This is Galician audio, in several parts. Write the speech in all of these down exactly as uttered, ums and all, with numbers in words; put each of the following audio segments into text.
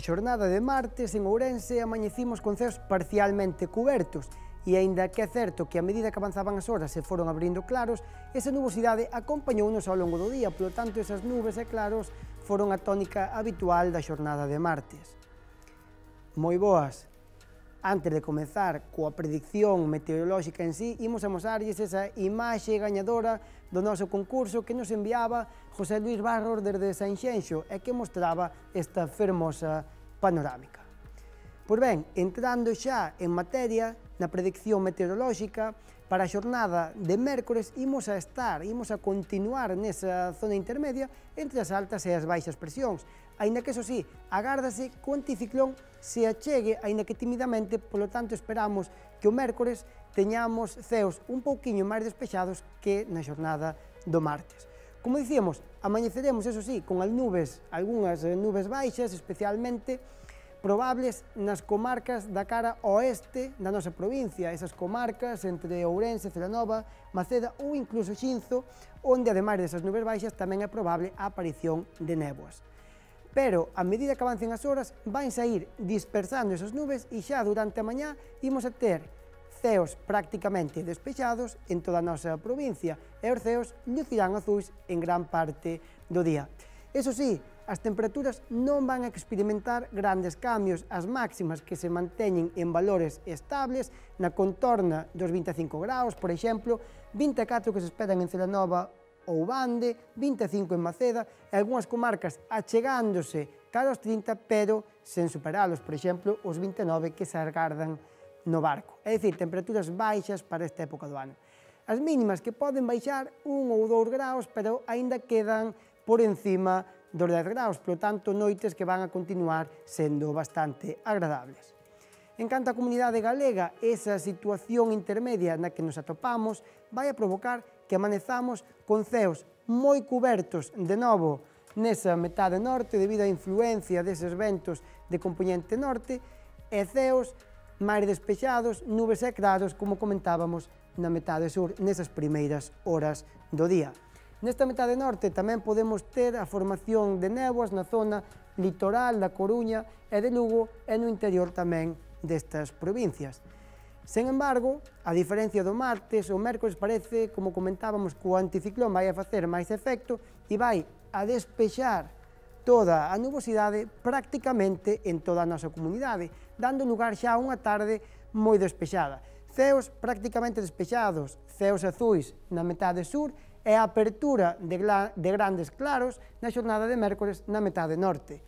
xornada de martes en Ourense amañecimos con ceos parcialmente cubertos e, aínda que é certo que a medida que avanzaban as horas se foron abrindo claros, esa nubosidade acompañounos ao longo do día, polo tanto esas nubes e claros foron a tónica habitual da xornada de martes. Moi boas! Antes de comezar coa predicción meteorolóxica en sí, imos amosarlles esa imaxe gañadora do noso concurso que nos enviaba José Luis Barros desde Sanxenxo e que mostraba esta fermosa panorámica. Pois ben, entrando xa en materia na predicción meteorolóxica, para a xornada de mércores imos a estar, imos a continuar nesa zona intermedia entre as altas e as baixas presións, aínda que, eso sí, agárdase que o anticiclón se achegue, aínda que timidamente, polo tanto esperamos que o mércores teñamos ceos un pouquiño máis despexados que na xornada do martes. Como dicíamos, amañeceremos, eso sí, con as nubes, algunhas nubes baixas, especialmente probables nas comarcas da cara oeste da nosa provincia, esas comarcas entre Ourense, Celanova, Maceda ou incluso Xinzo, onde, ademais desas nubes baixas, tamén é probable a aparición de néboas. Pero, a medida que avancen as horas, van a ir dispersando esas nubes e xa durante a mañá imos a ter ceos prácticamente despexados en toda a nosa provincia e os ceos lucirán azuis en gran parte do día. Eso sí, as temperaturas non van a experimentar grandes cambios, as máximas que se manteñen en valores estables, na contorna dos vinte e cinco graus, por exemplo, vinte e catro que se esperan en Celanova ou Bande, vinte e cinco en Maceda, e algunhas comarcas achegándose cara aos trinta, pero sen superalos, por exemplo, os vinte e nove que se agardan no Barco. É dicir, temperaturas baixas para esta época do ano. As mínimas que poden baixar un ou dous graus, pero aínda quedan por encima dos dez graus, polo tanto, noites que van a continuar sendo bastante agradables. En canto á comunidade galega, esa situación intermedia na que nos atopamos vai a provocar que amanezamos con ceos moi cubertos de novo nesa metade norte debido á influencia deses ventos de compoñente norte e ceos máis despexados, nubes e claros, como comentábamos, na metade sur, nesas primeiras horas do día. Nesta metade norte tamén podemos ter a formación de néboas na zona litoral da Coruña e de Lugo e no interior tamén destas provincias. Sen embargo, a diferencia do martes, o mércores parece, como comentábamos, que o anticiclón vai a facer máis efecto e vai a despexar toda a nubosidade prácticamente en toda a nosa comunidade, dando lugar xa a unha tarde moi despexada. Ceos prácticamente despexados, ceos azuis na metade sur e a apertura de, de grandes claros na xornada de mércores na metade norte,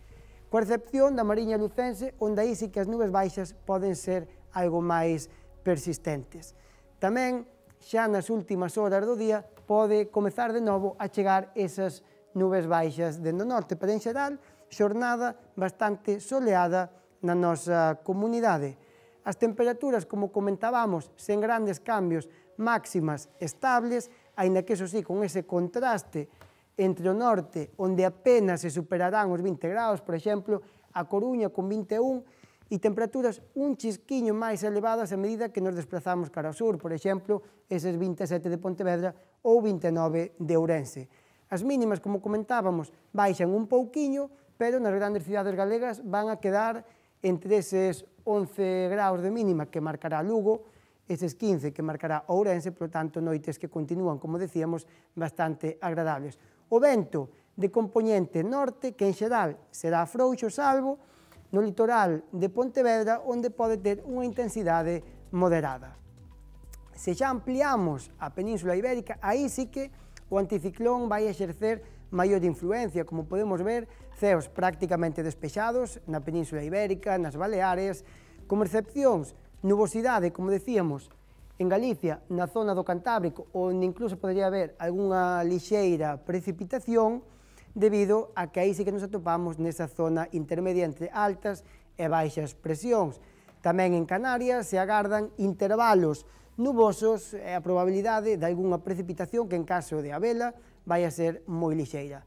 coa excepción da Mariña Lucense, onde aí sí que as nubes baixas poden ser algo máis persistentes. Tamén, xa nas últimas horas do día, pode comezar de novo a chegar esas nubes baixas dentro do norte, pero en xeral, xornada bastante soleada na nosa comunidade. As temperaturas, como comentábamos, sen grandes cambios, máximas estables, aínda que, eso sí, con ese contraste entre o norte, onde apenas se superarán os vinte graus, por exemplo, a Coruña con vinte e un, e temperaturas un chisquiño máis elevadas a medida que nos desplazamos cara ao sur, por exemplo, eses vinte e sete de Pontevedra ou vinte e nove de Ourense. As mínimas, como comentábamos, baixan un pouquiño, pero nas grandes cidades galegas van a quedar entre eses once graus de mínima que marcará Lugo, eses quince que marcará Ourense, por tanto, noites que continúan, como decíamos, bastante agradables. O vento de compoñente norte, que en xeral será frouxo, salvo no litoral de Pontevedra, onde pode ter unha intensidade moderada. Se xa ampliamos a Península Ibérica, aí sí que o anticiclón vai exercer maior influencia, como podemos ver, ceos prácticamente despexados na Península Ibérica, nas Baleares, como excepcións, nubosidade, como decíamos, en Galicia, na zona do Cantábrico, onde incluso podría haber algunha lixeira precipitación, debido a que aí sí que nos atopamos nesa zona intermedia entre altas e baixas presións. Tamén en Canarias se agardan intervalos nubosos e a probabilidade de algunha precipitación que, en caso de habela, vai a ser moi lixeira.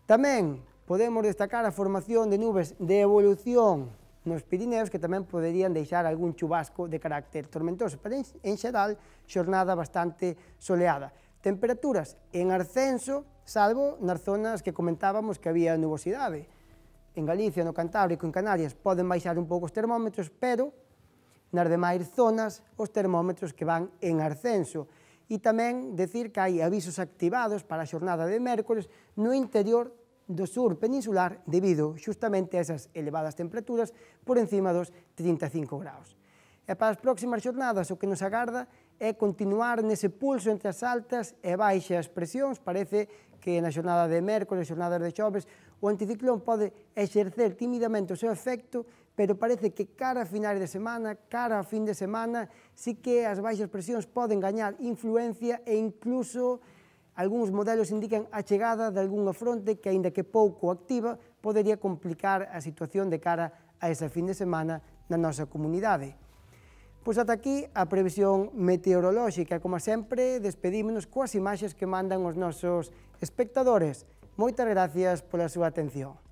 Tamén podemos destacar a formación de nubes de evolución nos Pirineos, que tamén poderían deixar algún chubasco de carácter tormentoso, pero en xeral, xornada bastante soleada. Temperaturas en ascenso, salvo nas zonas que comentábamos que había nubosidade. en Galicia, no Cantábrico, en Canarias, poden baixar un pouco os termómetros, pero nas demais zonas os termómetros que van en ascenso. E tamén decir que hai avisos activados para a xornada de mércores no interior do sur peninsular debido xustamente a esas elevadas temperaturas por encima dos trinta e cinco graus. E para as próximas xornadas o que nos agarda é continuar nese pulso entre as altas e baixas presións. Parece que na xornada de mércores, xornadas de xoves, o anticiclón pode exercer tímidamente o seu efecto, pero parece que cara a finais de semana, cara a fin de semana, sí que as baixas presións poden gañar influencia e incluso algúns modelos indican a chegada de algunha fronte que, aínda que pouco activa, podería complicar a situación de cara a esa fin de semana na nosa comunidade. Pois ata aquí a previsión meteorolóxica. Como sempre, despedímonos coas imaxes que mandan os nosos espectadores. Moitas gracias pola súa atención.